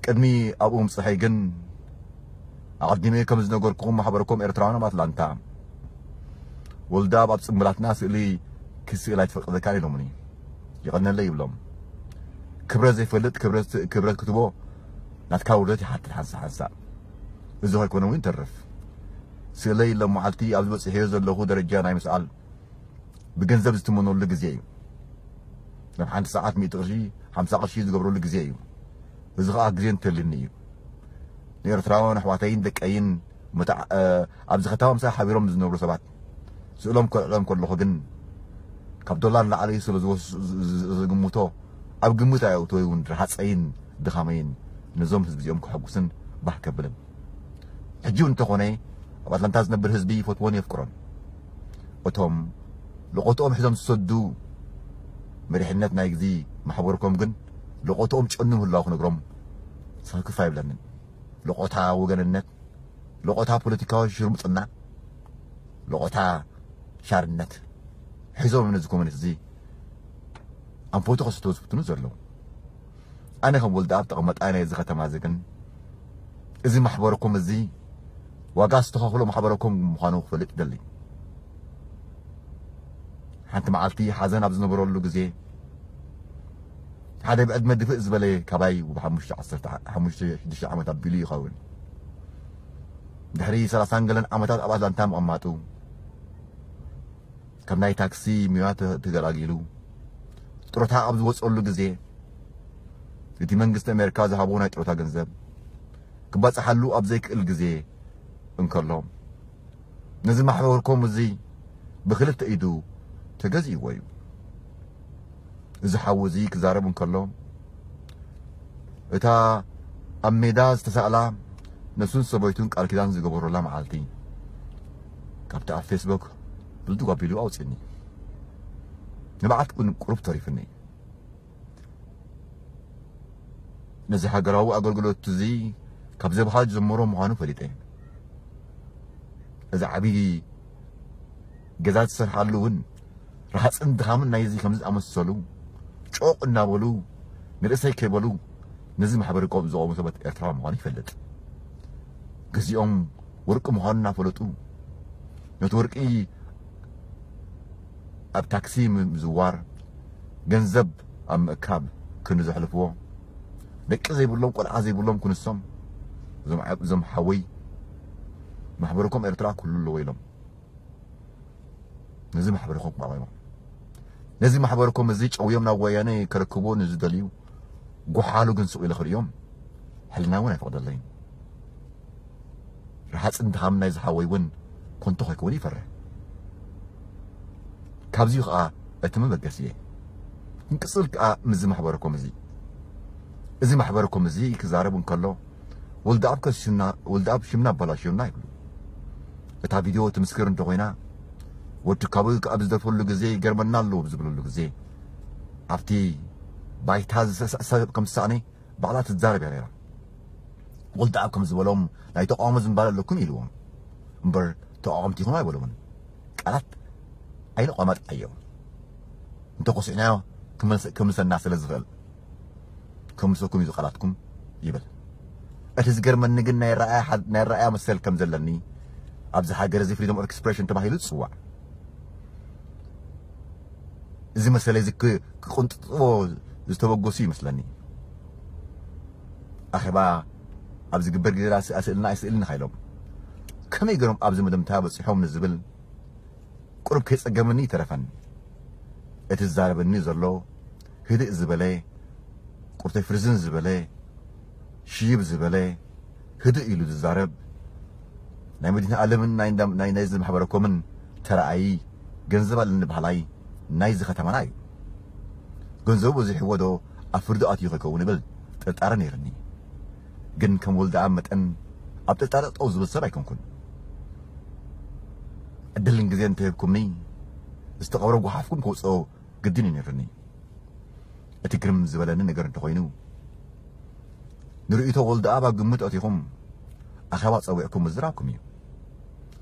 ቅድሚ ኣብኡ ምጽሐይ ግን ኣቐዲመ ከም ዝነገርኩኹም ማሕበረኮም ኤርትራውያን ኣብ ኣትላንታ ወልዳብ ኣብ ጽምብላትና ስእሊ ክስእል ኣይትፈቅደካን ኢሎምኒ። ይቐነለይ ይብሎም። ክብረት ዘይፈልጥ ክብረት ክትቦ ናትካ ውርደት ይሓትት ሓንሳ ሓንሳ። እዚ ከይኮነ እውን ይተርፍ። ስእለይ ሎም መዓልቲ ኣብዚ በጽሕዮ ዘለኹ ደረጃ ናይ ምስኣል ብገንዘብ ዝትመነሉ ግዜ እዩ። ናብ ሓንቲ ሰዓት ሚእቲ ቅርሺ፣ ሓምሳ ቅርሺ ዝገብረሉ ግዜ እዩ። እዚ ኸኣ ግዜ እንተልኒ እዩ። ንኤርትራውያን ኣሕዋተይን ደቀይን መታዕ-፣ እ፣ ኣብዚ ከተማ ምሳይ ሓቢሮም ዝነብሩ ሰባት ስእሎም ከልዕሎም ከለኹ ግን ካብ ዶላር ንላዕሊ ስለ ዝወስ-፣ ዝ-፣ ዝ-፣ ዝግምቶ ኣብ ግምት ኣየእትወይ እውን ርሃፀይን ድኻመይን ነዞም ህዝቢ እዚኦም ከሐጉስን ባህ ከብልን። ሕጂ እውን እንተኾነ ኣብ ኣትላንታ ዝነብር ህዝቢ ይፈትዎን የፍቅሮን። እቶም ለቖትኦም ሒዞም ዝሰዱ መሪሕነት ናይ ግዚ ማሕበርኮም ግን ለቖትኦም ጨኑ ምህላው ክነግሮም ሰክፍ ኣይብለንን። ለቖታ ወገንነት፣ ለቖታ ፖለቲካዊ ሽርሙጥና፣ ለቖታ ሻርነት ሒዞም ነዚ ኮሚኒስት እዚ ኣንፈቱ ከስቶ ዝፍትኑ ዘለዉ። ኣነ ከም ወልደኣብ ተቐመጣይ ናይዚ ከተማ እዚ ግን እዚ ማሕበርኩም እዚ ዋጋ ዝተኸፍሎ ማሕበረኩም ምዃኑ ክፈልጥ ይደሊ። ሓንቲ መዓልቲ ሓዘን ኣብ ዝነበረሉ ግዜ ሓደ ብዕድመ ድፍእ ዝበለ ካባይ ብሓሙሽተ ዓሰርተ ሓሙሽተ ሽዱሽተ ዓመት ኣቢሉ ይኸውን። ድሕሪ ሰላሳን ገለን ዓመታት ኣብ ኣትላንታ ምቕማጡ ካብ ናይ ታክሲ ሚዋ ተ-፣ ተገላጊሉ ጡረታ ኣብ ዝወፀሉ ግዜ እቲ መንግስቲ ኣሜሪካ ዝሃቦ ናይ ጡረታ ገንዘብ ክባፅሓሉ ኣብ ዘይክእል ግዜ እንከሎ ነዚ ማሕበርኮም እዚ ብክልተ ኢዱ ተገዚእዎ እዩ። እዚ ሓዊ እዚ ክዛረብ እንከሎ እታ ኣብ ሜዳ ዝተሳእላ ነሱን ሰበይቱን ቃል ኪዳን ዝገበሩላ መዓልቲ ካብቲ ኣብ ፌስቡክ ብልድግ ኣቢሉ ኣውፅኒ። ንብዓት እውን ቁሩብ ተሪፍኒ። ነዚ ሃገራዊ ኣገልግሎት እዚ ካብ ዘብሃ ጀምሮ ምዃኑ ፈሊጠ። እዚ ዓብዪ ገዛ ዝሰርሓሉ እውን ረሃፅን ድኻምን ናይዚ ከምዚ ዝኣመሰሉ ጮቕ እናበሉ ንርእሰይ ከይበሉ ነዚ ማሕበረ ቆብ ዝቖሙ ሰባት ኤርትራ ምዃኑ ይፈልጥ። ግዚኦም ወርቂ ምዃኑ እናፈለጡ ነቲ ወርቂ ኣብ ታክሲ ምዝዋር ገንዘብ ኣብ ምእካብ ክንዲ ዘሕልፍዎ ደቂ ዘይብሎም ቆልዓ ዘይብሎም ክንሶም እዞም ዓ-፣ እዞም ሓወይ ማሕበረኮም ኤርትራ ኩሉ ኣለዎ ኢሎም ነዚ ማሕበረኮም ኣቕሪቦም። ነዚ ማሕበረኮም እዚ ጨውዮም ናብ ወያነ ከረክብዎ ንዝደልዩ ጎሓሉ ግን ስቕ ኢለ ክርእዮም ሕልና እውን ኣይፈቕደለይን። ረሃፅን ድኻም ናይ ዝሓወይ እውን ኮንቶ ከይከውን ይፈርሕ። ካብዚ ከዓ እቲ መበገሲ እየ። ክንቅፅል ከዓ ምዚ ማሕበረኮም እዚ እዚ ማሕበረኮም እዚ ክዛረብ እንከሎ ወልደኣብ ከሲሱና፣ ወልደኣብ ሽምና ኣባላሽዮና ይብሉ። እታ ቪድዮ ትምስክር እንተኾይና ወዲ ካቡ ኣብ ዝደርፈሉ ግዜ ይገርመና ኣለዎ ብዝብለሉ ግዜ ኣብቲ ባይታ ዝስዕስዕ ሰብ ከም ዝሰኣነ ባዕላ ትዛረብ እያ ነይራ። ወልደኣብ ከም ዝበሎም ናይ ተቃውሞ ዝንባለ ኣለኩም ኢልዎም እምበር ተቃወምቲ ኢኹም ኣይበሎምን። ቃላት ኣይንቋማጥ ኣዮም። እንተኾሲዕናዮ ክምልሰ-፣ ክምልሰና ስለ ዝኽእል ክምልሰኩም እዩ ቃላትኩም ይብል። እቲ ዝገርመኒ ግን ናይ ረኣያ ሓ-፣ ናይ ረኣያ መሰል ከም ዘለኒ ኣብዚ ሃገር እዚ ፍሪደም ኦፍ ኤክስፕሬሽን ተባሂሉ ዝጽዋዕ እዚ መሰለይ እዚ ክ-፣ ክቕንጥጥዎ ዝተበገሱ ይመስለኒ። ኣኼባ ኣብ ዝግበር ግዜ ደኣ ስእልና ኣይስእልን ኢኻ ኢሎም ከመይ ገይሮም ኣብዚ መደምታ በጺሖም ንዝብል ቁሩብ ከይጸገመኒ ይተረፈኒ። እቲ ዝዛረበኒ ዘሎ ህድእ ዝበለ፣ ቁርተይ ፍርዝን ዝበለ፣ ሽይብ ዝበለ፣ ህድእ ኢሉ ዝዛረብ፣ ናይ መድህን ኣለምን ናይ እንዳ-፣ ናይ፣ ናይዚ ማሕበረኮምን ተረኣዪ፣ ገንዘብ ኣለኒ በሃላይ ናይዚ ከተማና እዩ። ገንዘቡ በዚሕዎ ዶ ኣብ ፍርዲ ኣትዩ ከይከውን እብል ጥርጣረ ነይርኒ። ግን ከም ወልደኣብ መጠን ኣብ ጥርጣረ ጠጠው ዝብል ሰብ ኣይኮንኩን። ዕድልን ግዜን እንተሂብኩምኒ፣ ዝተቐብረ ጓሓፍኩም ከውፅኦ ግድን እዩ ነይርኒ። እቲ ግርም ዝበለኒ ነገር እንተኾይኑ፣ ንርእይቶ ወልደኣብ ኣብ ግምት ኣቲኹም ኣኼባ ጸዊዕኩም ምዝራብኩም እዩ።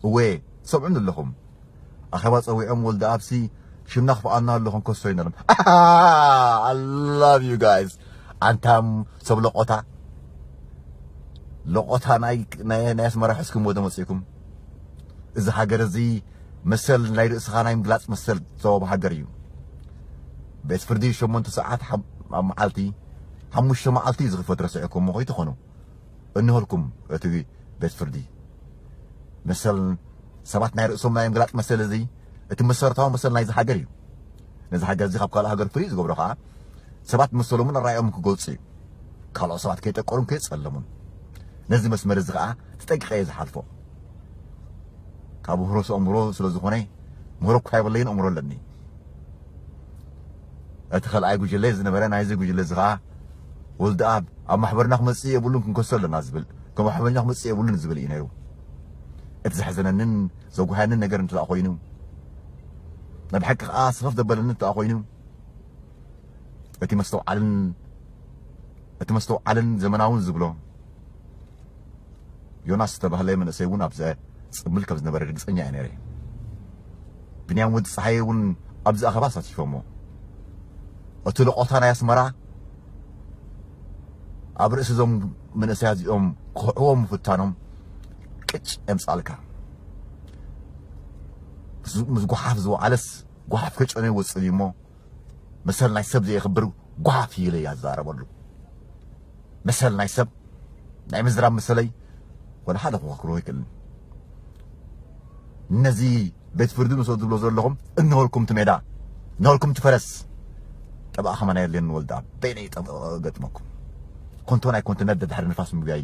እወ፣ ትሰምዑኒ ኣለኹም። ኣኼባ ጸዊዖም ወልደኣብሲ ሽምና ክፍኣና ኣሎ ክንከሶ ኢና ኢሎም። I love you guys። ኣንታም ሰብ ለቖታ። ለቆታ ናይ ናይ ናይ ኣስመራ ሕዝኩም ወደ መጽእኩም። እዚ ሃገር እዚ መሰል ናይ ርእስኻ ናይ ምግላጽ መሰል ተዋብ ሃገር እዩ። ቤት ፍርዲ ሸሞንተ ሰዓት ኣብ መዓልቲ ሓሙሽተ መዓልቲ ዝኽፈት ረስዕኩም እሞ ከይትኾኑ እንሆልኩም እቲ ቤት ፍርዲ መሰል ሰባት ናይ ርእሶም ናይ ምግላጽ መሰል እዚ እቲ መሰረታዊ መሰል ናይዚ ሃገር እዩ። ነዚ ሃገር እዚ ካብ ካልእ ሃገር ፍሉይ ዝገብሮ ከዓ ሰባት መሰሎምን ኣራእዮምን ክገልጹ እዩ። ካልኦት ሰባት ከይጠቀሩን ከይጸለሙን ነዚ መስመር እዚ ከዓ ተጠንቂቐ እየ ዝሓልፎ። ካብ ምህሮ ኣእምሮ ስለ ዝኾነ ምህሮ እኳ የብለይን ኣእምሮ ኣለኒ። እቲ ካልኣይ ጉጅለ ዝነበረ ናይዚ ጉጅለ እዚ ከዓ ወልደኣብ ኣብ ማሕበርና ክመፅእ የብሉን ክንከሶ ኣለና ዝብል ከም ማሕበርና ክመፅእ የብሉን ዝብል እዩ ነይሩ። እቲ ዘሕዘነንን ዘጉሃየንን ነገር እንተ ኮይኑ ናይ ብሓቂ ከዓ ስኽፍ ዘበለኒ እንተ ኮይኑ እቲ መስተውዓልን እቲ መስተውዓልን ዘመናውን ዝብሎ ዮናስ ዝተባህለ መንእሰይ እውን ኣብዚ ፅምብል ከም ዝነበረ ርግፀኛ እየ ነይረ። ብንያም ወዲ ፀሓየ እውን ኣብዚ ኣኸባ ኣሳቲፎሞ። እቲ ለቆታ ናይ ኣስመራ ኣብ ርእሲ እዞም መንእሰያት እዚኦም ክኽዕዎም ምፍታኖም ቅጭ የምፃልካ። ምስ ጎሓፍ ዝወዓለስ ጎሓፍ ከጨነ ይወፅእ እዩ እሞ መሰል ናይ ሰብ ዘየኽብር ጓፍ ኢለ እያ ዝዛረበሉ። መሰል ናይ ሰብ ናይ ምዝራብ መሰለይ ወላ ሓደ ክኸክሮ ኣይክእልን። ነዚ ቤት ፍርዲ ንሰ ዝብሎ ዘለኹም እንሆልኩም እቲ ሜዳ እንሆልኩም እቲ ፈረስ ጠበኣ ከማን ኣየድልየኒ ወልዳ በይነይ ጠበ ገጥመኩም ኮንቶ ናይ ኮንትነት ደድሕሪ ንፋስ ምጉያይ